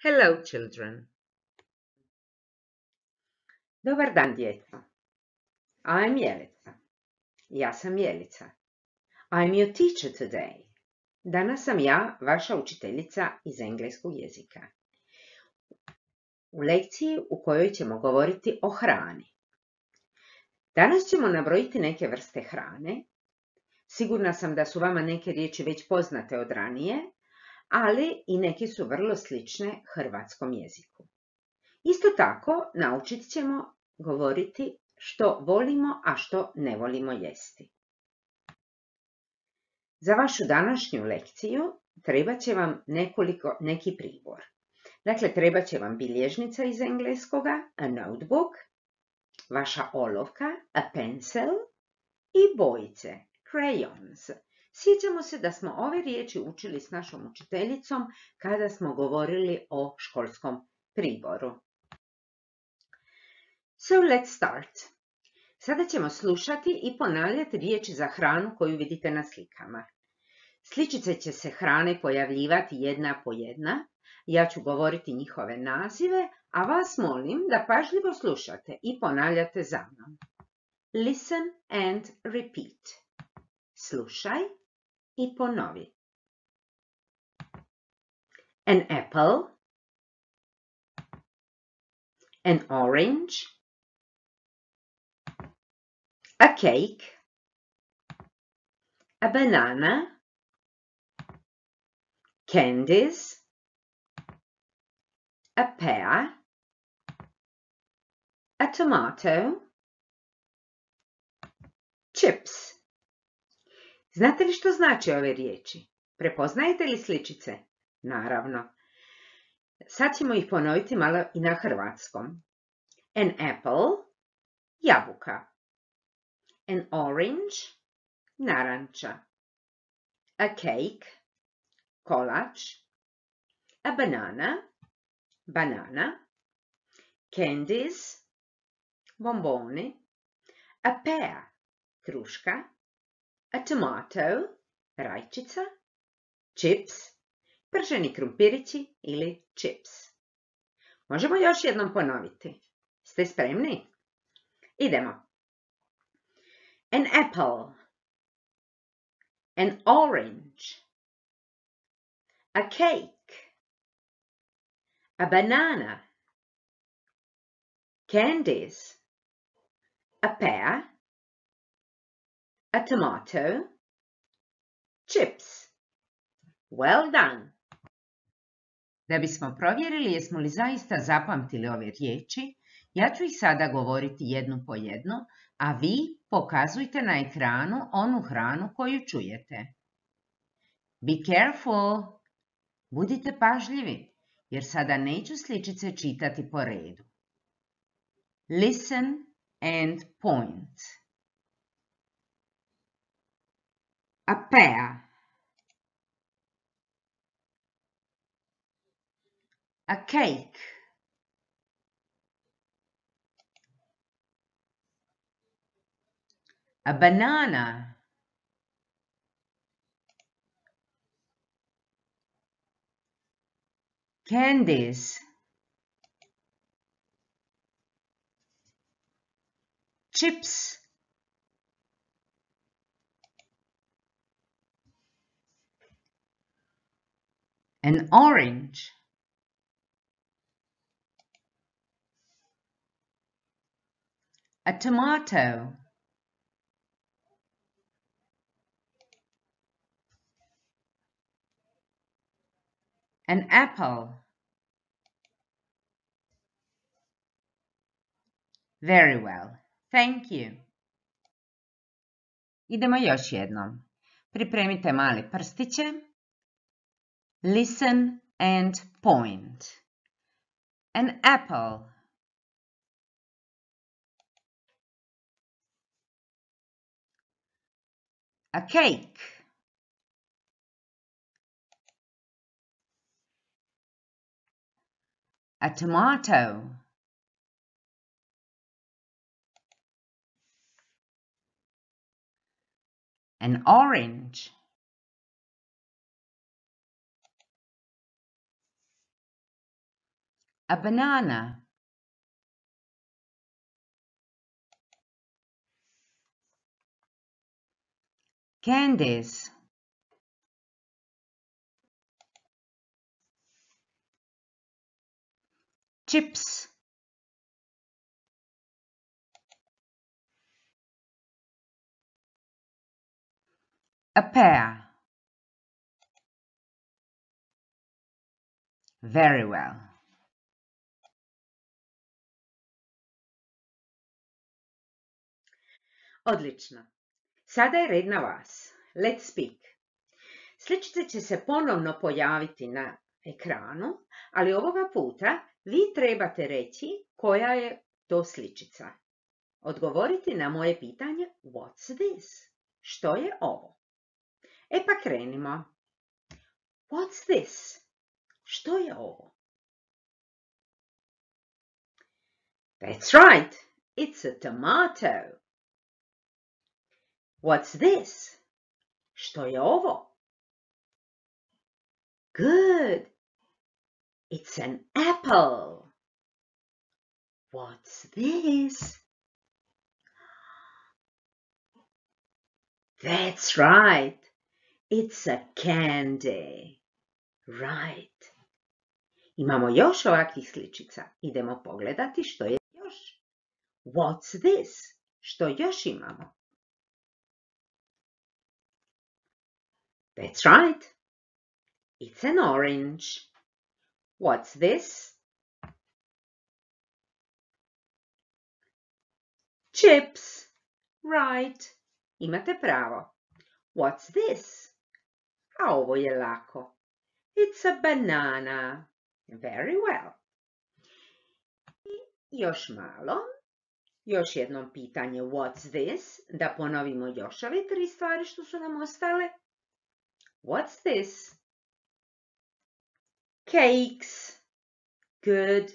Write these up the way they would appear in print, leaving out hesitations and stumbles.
Hello, children. Dobar dan, djeco. I'm Jelica. Ja sam Jelica. I'm your teacher today. Danas sam ja vaša učiteljica iz engleskog jezika. U lekciji u kojoj ćemo govoriti o hrani. Danas ćemo nabrojiti neke vrste hrane. Sigurna sam da su vama neke riječi već poznate od ranije, ali i neke su vrlo slične hrvatskom jeziku. Isto tako naučit ćemo govoriti što volimo, a što ne volimo jesti. Za vašu današnju lekciju trebat će vam neki pribor. Dakle, trebat će vam bilježnica iz engleskoga, a notebook, vaša olovka, a pencil i bojice, crayons. Sjećamo se da smo ove riječi učili s našom učiteljicom kada smo govorili o školskom priboru. So let's start. Sada ćemo slušati i ponavljati riječi za hranu koju vidite na slikama. Sličice će se hrane pojavljivati jedna po jedna. Ja ću govoriti njihove nazive, a vas molim da pažljivo slušate i ponavljate za mnom. Listen and repeat. Slušaj i ponovi. An apple. An orange. A cake. A banana. Candies. A pear. A tomato. Chips. Znate li što znači ove riječi? Prepoznajete li sličice? Naravno. Sad ćemo ih ponoviti malo i na hrvatskom. An apple, jabuka. An orange, naranča. A cake, kolač. A banana, banana. Candies, bomboni. A pear, kruška. A tomato, rajčica. Chips, prženi krumpirići ili chips. Možemo još jednom ponoviti. Ste spremni? Idemo. An apple. An orange. A cake. A banana. Candies. A pear. A tomato. Chips. Well done! Da bismo provjerili jesmo li zaista zapamtili ove riječi, ja ću ih sada govoriti jednu po jednu, a vi pokazujte na ekranu onu hranu koju čujete. Be careful! Budite pažljivi, jer sada neću sličice čitati po redu. Listen and point. A pear. A cake. A banana. Candies. Chips. An orange. A tomato. An apple. Very well. Thank you. Idemo još jednom. Pripremite male prstiće. Listen and point. An apple. A cake. A tomato. An orange. A banana. Candies. Chips. A pear. Very well. Odlično. Sada je red na vas. Let's speak. Sličice će se ponovno pojaviti na ekranu, ali ovoga puta vi trebate reći koja je to sličica. Odgovoriti na moje pitanje What's this? Što je ovo? E pa krenimo. What's this? Što je ovo? That's right. It's a tomato. What's this? Što je ovo? Good. It's an apple. What's this? That's right. It's a candy. Right. Imamo još ovakvih sličica. Idemo pogledati što je još. What's this? Što još imamo? That's right. It's an orange. What's this? Chips. Right. Imate pravo. What's this? A ovo je lako. It's a banana. Very well. I još malo. Još jednom pitanje what's this? Da ponovimo još ove 3 stvari što su nam ostale. What's this? Cakes. Good.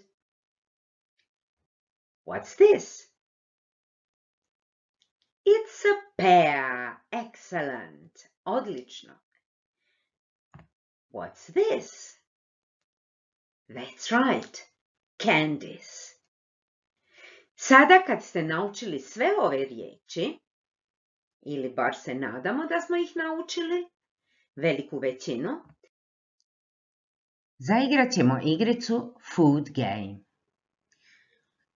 What's this? It's a pear. Excellent. Odlično. What's this? That's right. Candies. Sada kad ste naučili sve ove riječi, ili bar se nadamo da smo ih naučili, veliku većinu, zaigrat ćemo igricu Food Game.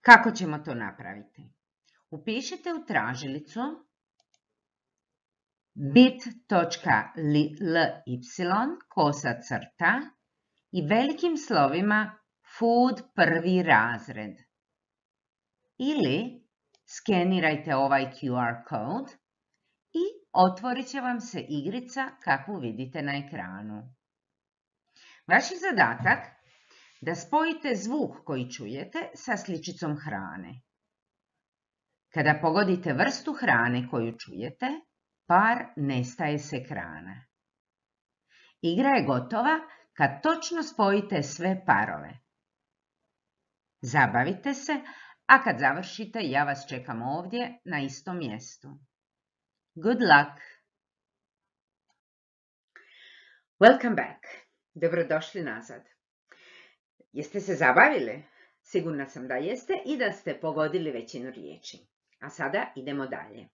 Kako ćemo to napraviti? Upišite u tražilicu bit.ly i velikim slovima Food prvi razred. Ili skenirajte ovaj QR kod i otvorit će vam se igrica kakvu vidite na ekranu. Vaš je zadatak da spojite zvuk koji čujete sa sličicom hrane. Kada pogodite vrstu hrane koju čujete, par nestaje s ekrana. Igra je gotova kad točno spojite sve parove. Zabavite se, a kad završite, ja vas čekam ovdje na istom mjestu. Good luck! Welcome back. Dobrodošli nazad. Jeste se zabavili? Sigurna sam da jeste i da ste pogodili većinu riječi. A sada idemo dalje.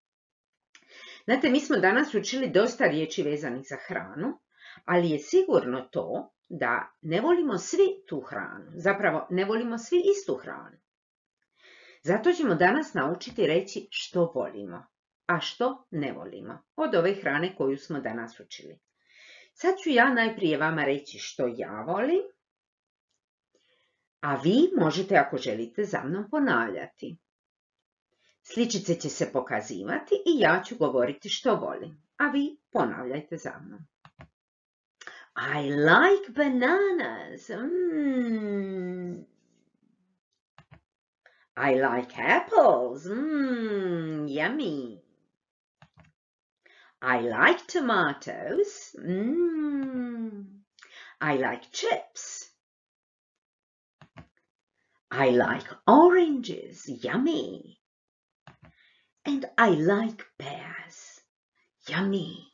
Znate, mi smo danas učili dosta riječi vezanih za hranu, ali je sigurno to da ne volimo svi tu hranu. Zapravo, ne volimo svi istu hranu. Zato ćemo danas naučiti reći što volimo, a što ne volimo od ove hrane koju smo danas učili. Sad ću ja najprije vama reći što ja volim, a vi možete, ako želite, za mnom ponavljati. Sličice će se pokazivati i ja ću govoriti što volim, a vi ponavljajte za mnom. I like bananas. I like apples. Yummy. I like tomatoes. I like chips. I like oranges. Yummy. And I like pears. Yummy.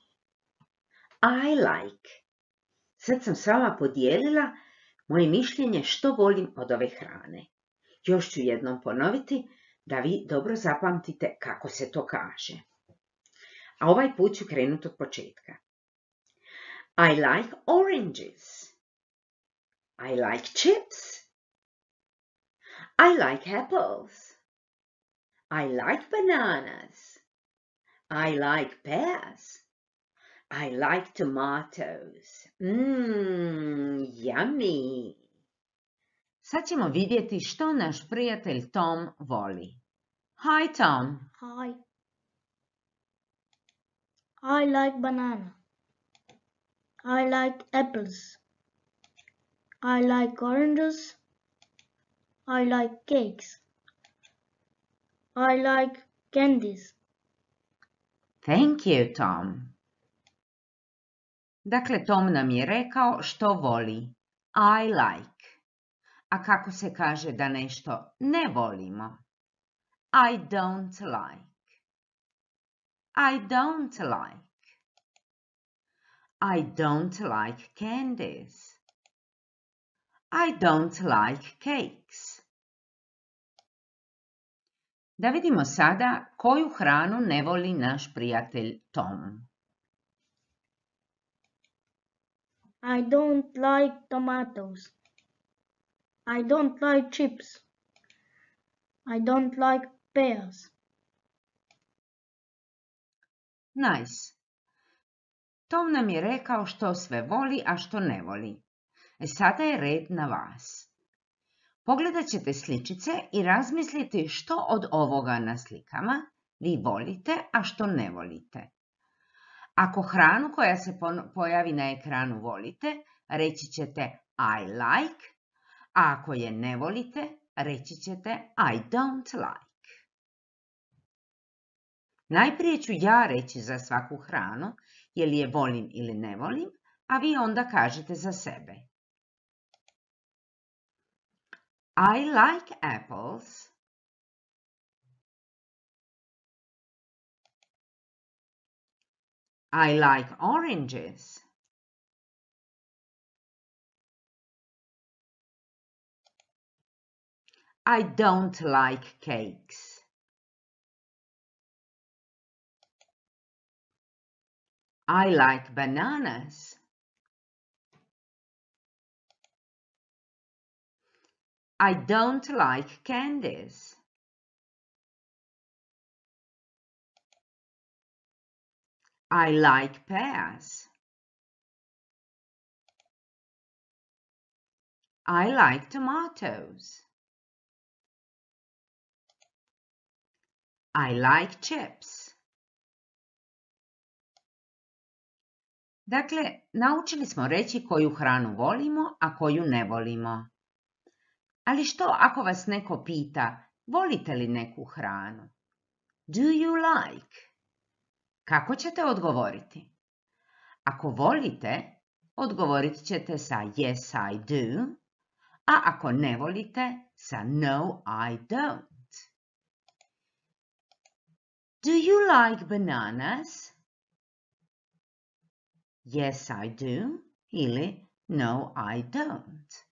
I like. Sad sam s vama podijelila moje mišljenje što volim od ove hrane. Još ću jednom ponoviti da vi dobro zapamtite kako se to kaže. A ovaj put ću krenuti od početka. I like oranges. I like chips. I like apples. I like bananas. I like pears. I like tomatoes. Yummy. Sad ćemo vidjeti što naš prijatelj Tom voli. Hi Tom. Hi. I like banana. I like apples. I like oranges. I like cakes. I like candies. Thank you, Tom. Dakle, Tom nam je rekao što voli. I like. A kako se kaže da nešto ne volimo? I don't like. I don't like. I don't like candies. I don't like cakes. Da vidimo sada koju hranu ne voli naš prijatelj Tom. I don't like tomatoes. I don't like chips. I don't like pears. Nice. Tom nam je rekao što sve voli, a što ne voli. Sada je red na vas. Pogledat ćete sličice i razmisliti što od ovoga na slikama vi volite, a što ne volite. Ako hranu koja se pojavi na ekranu volite, reći ćete I like, a ako je ne volite, reći ćete I don't like. Najprije ću ja reći za svaku hranu, je li je volim ili ne volim, a vi onda kažete za sebe. I like apples. I like oranges. I don't like cakes. I like bananas. I don't like candies. I like pears. I like tomatoes. I like chips. Dakle, naučili smo reći koju hranu volimo, a koju ne volimo. Ali što ako vas neko pita, volite li neku hranu? Do you like? Kako ćete odgovoriti? Ako volite, odgovorit ćete sa yes I do, a ako ne volite, sa no I don't. Do you like bananas? Yes I do ili no I don't.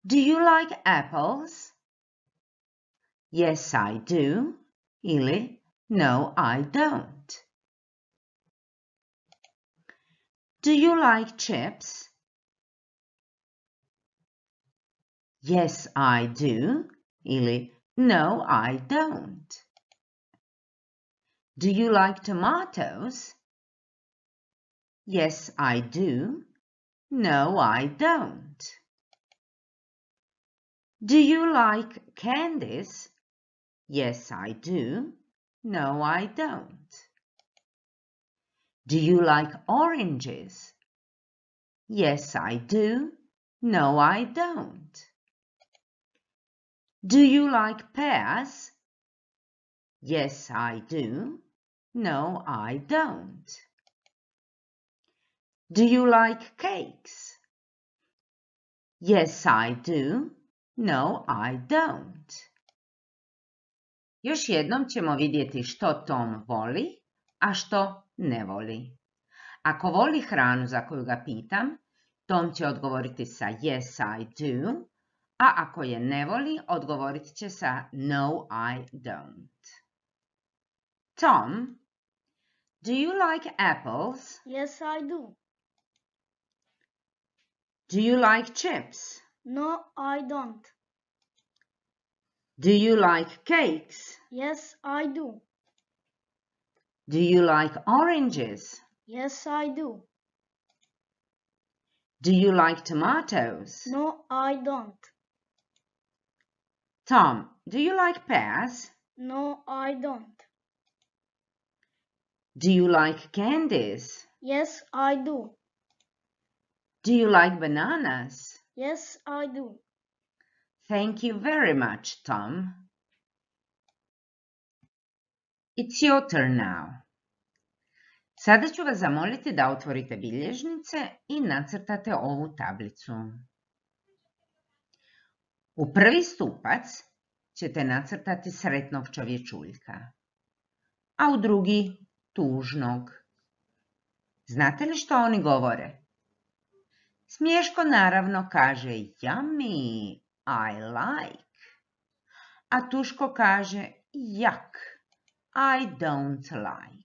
Do you like apples? Yes I do ili no I don't. Do you like chips? Yes I do ili no I don't. Do you like tomatoes? Yes I do. No I don't. Do you like candies? Yes I do. No I don't. Do you like oranges? Yes I do. No I don't. Do you like pears? Yes I do. No I don't. Do you like cakes? Yes I do. No I don't. Još jednom ćemo vidjeti što Tom voli, a što ne voli. Ako voli hranu za koju ga pitam, Tom će odgovoriti sa yes, I do, a ako je ne voli, odgovorit će sa no, I don't. Tom, do you like apples? Yes, I do. Do you like chips? No, I don't. Do you like cakes? Yes, I do. Do you like oranges? Yes, I do. Do you like tomatoes? No, I don't. Tom, do you like pears? No, I don't. Do you like candies? Yes, I do. Do you like bananas? Yes, I do. Thank you very much, Tom. It's your turn now. Sada ću vas zamoliti da otvorite bilježnice i nacrtate ovu tablicu. U prvi stupac ćete nacrtati sretnog čovječuljka, a u drugi tužnog. Znate li što oni govore? Smješko naravno kaže yummy, I like, a tuško kaže yuck, I don't like.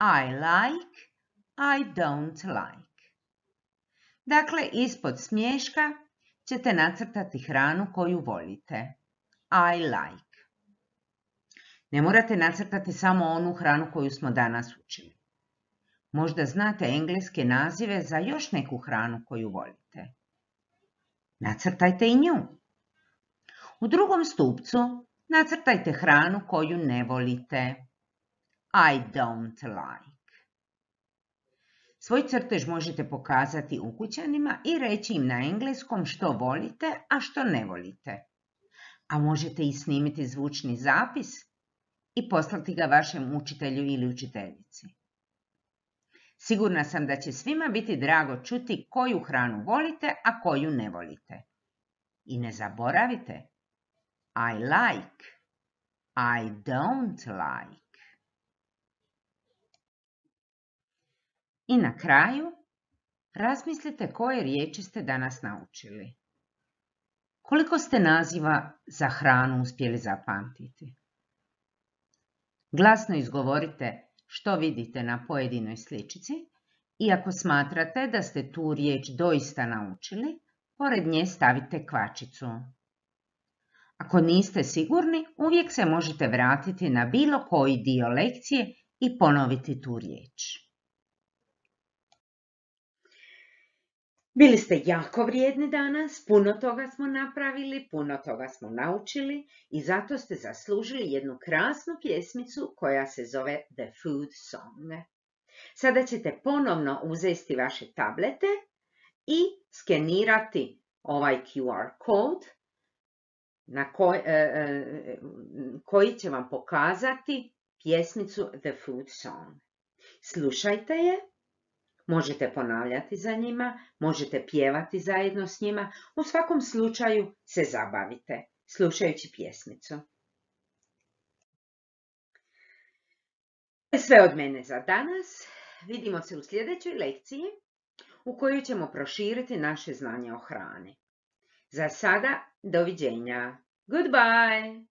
I like, I don't like. Dakle, ispod smješka ćete nacrtati hranu koju volite. I like. Ne morate nacrtati samo onu hranu koju smo danas učili. Možda znate engleske nazive za još neku hranu koju volite. Nacrtajte i nju. U drugom stupcu nacrtajte hranu koju ne volite. I don't like. Svoj crtež možete pokazati ukućanima i reći im na engleskom što volite, a što ne volite. A možete i snimiti zvučni zapis i poslati ga vašem učitelju ili učiteljici. Sigurna sam da će svima biti drago čuti koju hranu volite, a koju ne volite. I ne zaboravite, I like, I don't like. I na kraju, razmislite koje riječi ste danas naučili. Koliko ste naziva za hranu uspjeli zapamtiti? Glasno izgovorite što vidite na pojedinoj sličici i ako smatrate da ste tu riječ doista naučili, pored nje stavite kvačicu. Ako niste sigurni, uvijek se možete vratiti na bilo koji dio lekcije i ponoviti tu riječ. Bili ste jako vrijedni danas, puno toga smo napravili, puno toga smo naučili i zato ste zaslužili jednu krasnu pjesmicu koja se zove The Food Song. Sada ćete ponovno uzeti vaše tablete i skenirati ovaj QR kod koji će vam pokazati pjesmicu The Food Song. Slušajte je. Možete ponavljati za njima, možete pjevati zajedno s njima, u svakom slučaju se zabavite slušajući pjesmicu. To je sve od mene za danas. Vidimo se u sljedećoj lekciji u kojoj ćemo proširiti naše znanje o hrani. Za sada, doviđenja. Goodbye!